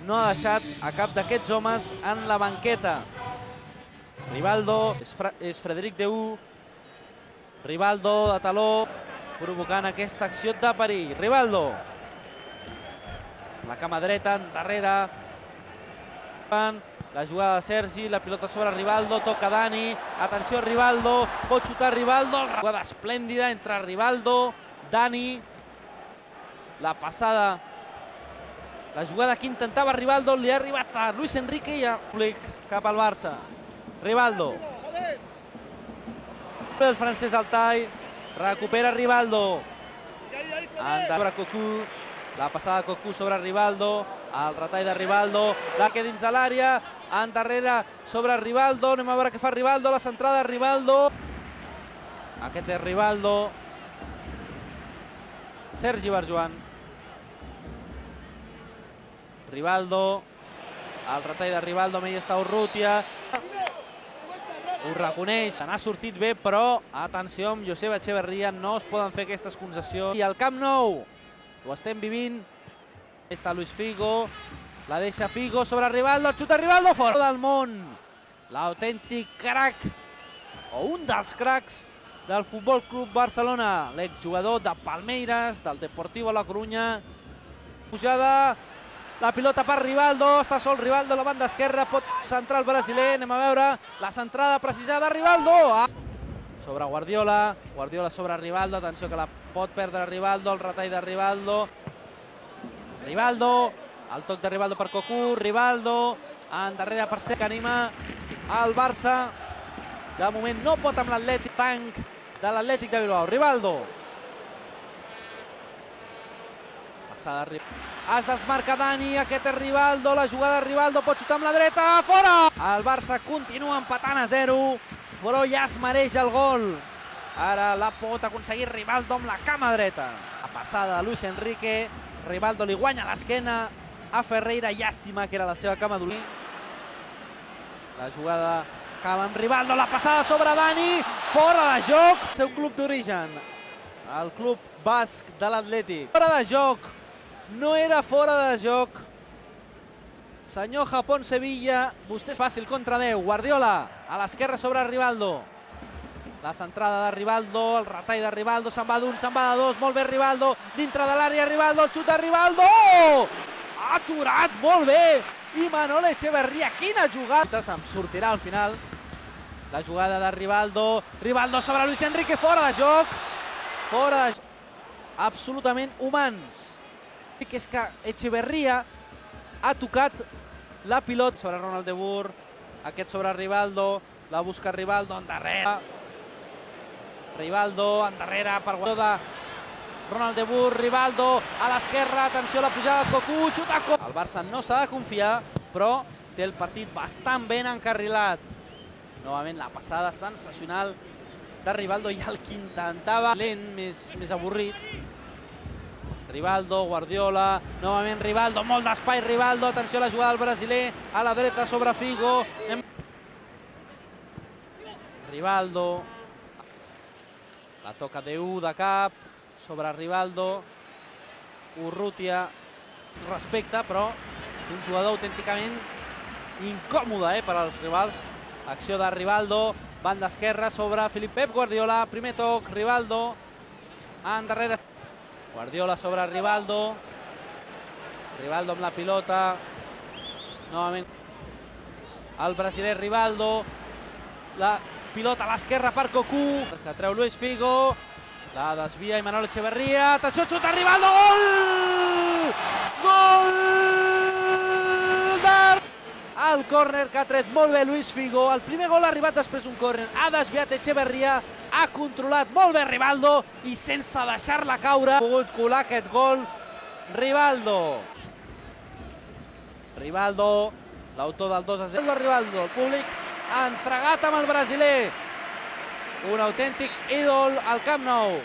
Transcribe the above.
no ha deixat a cap d'aquests homes en la banqueta. Rivaldo, és Frederic Deu. Rivaldo de taló, provocant aquesta acció de perill. Rivaldo. La cama dreta, endarrere. La jugada de Sergi, la pilota sobre Rivaldo, toca Dani. Atenció, Rivaldo, pot xutar Rivaldo. La jugada esplèndida entre Rivaldo, Dani. La passada, la jugada que intentava Rivaldo, li ha arribat a Luis Enrique i a cap al Barça. Rivaldo. El francès Altai, recupera Rivaldo. Sobre Cocu, la passada de Cocu sobre Rivaldo, el retall de Rivaldo, la que dins de l'àrea, endarrere sobre Rivaldo, anem a veure què fa Rivaldo, la centrada de Rivaldo. Aquest és Rivaldo. Sergi Barjuan. Rivaldo, el retall de Rivaldo, mai està Urrutia. Ho reconeix, se n'ha sortit bé, però atenció amb Joseba Echeverría, no es poden fer aquestes concessions. I al Camp Nou, ho estem vivint. Està Luis Figo, la deixa Figo sobre Rivaldo, xuta Rivaldo, fora del món. L'autèntic crac, o un dels cracs del Futbol Club Barcelona, l'exjugador de Palmeiras, del Deportivo La Coruña. Pujada, la pilota per Rivaldo, està sol Rivaldo a la banda esquerra, pot centrar el brasiler, anem a veure la centrada precisada, Rivaldo! Sobre Guardiola, Guardiola sobre Rivaldo, atenció que la pot perdre Rivaldo, el retall de Rivaldo. Rivaldo, el toc de Rivaldo per Cocu, Rivaldo, endarrere per Sergi, que anima el Barça. De moment no pot amb l'Atlètic, tanc de l'Atlètic de Bilbao, Rivaldo. Es desmarca Dani, aquest és Rivaldo, la jugada de Rivaldo, pot xutar amb la dreta, fora! El Barça continua empatant a 0, però ja es mereix el gol. Ara la pot aconseguir Rivaldo amb la cama dreta. La passada de Luis Enrique, Rivaldo li guanya l'esquena a Ferreira, llàstima que era la seva cama dolent. La jugada acaba amb Rivaldo, la passada sobre Dani, fora de joc. El seu club d'origen, el club basc de l'Atlètic. Fora de joc. No era fora de joc. Senyor Japón-Sevilla, vostè és fàcil contra 10. Guardiola, a l'esquerra sobre Rivaldo. La centrada de Rivaldo, el retall de Rivaldo, se'n va d'un, se'n va de dos, molt bé Rivaldo, dintre de l'àrea Rivaldo, el xut de Rivaldo! Ha aturat molt bé! I Manol Echeverría, quina jugada! Se'n sortirà al final. La jugada de Rivaldo, Rivaldo sobre Luis Enrique, fora de joc! Fora de joc. Absolutament humans. Que és que Echeverría ha tocat la pilota sobre Ronald de Boer, aquest sobre Rivaldo, la busca Rivaldo, endarrere. Rivaldo, endarrere per Guardiola de Ronald de Boer, Rivaldo a l'esquerra, atenció a la pujada de Cocu, xuta Cocu. El Barça no s'ha de confiar, però té el partit bastant ben encarrilat. Novament la passada sensacional de Rivaldo i el que intentava lent, més avorrit. Rivaldo, Guardiola, novament Rivaldo, molt d'espai Rivaldo, atenció a la jugada del brasiler, a la dreta sobre Figo. Rivaldo, la toca Deu de cap, sobre Rivaldo, Urrutia, respecte, però un jugador autènticament incòmode per als rivals. Acció de Rivaldo, banda esquerra sobre Pep Guardiola, primer toc, Rivaldo, endarrere. Guardiola sobre Rivaldo, Rivaldo amb la pilota, novament el brasiler Rivaldo, la pilota a l'esquerra per Cocu, que treu Luis Figo, la desvia i Manol Echeverría, atenció, xuta Rivaldo, gol! Gol! El córner que ha tret molt bé Luis Figo, el primer gol ha arribat després d'un córner, ha desviat Echeverría, ha controlat molt bé Rivaldo i sense deixar-la caure ha pogut colar aquest gol Rivaldo. Rivaldo, l'autor del 2-0 de Rivaldo, el públic entregat amb el brasiler. Un autèntic ídol al Camp Nou.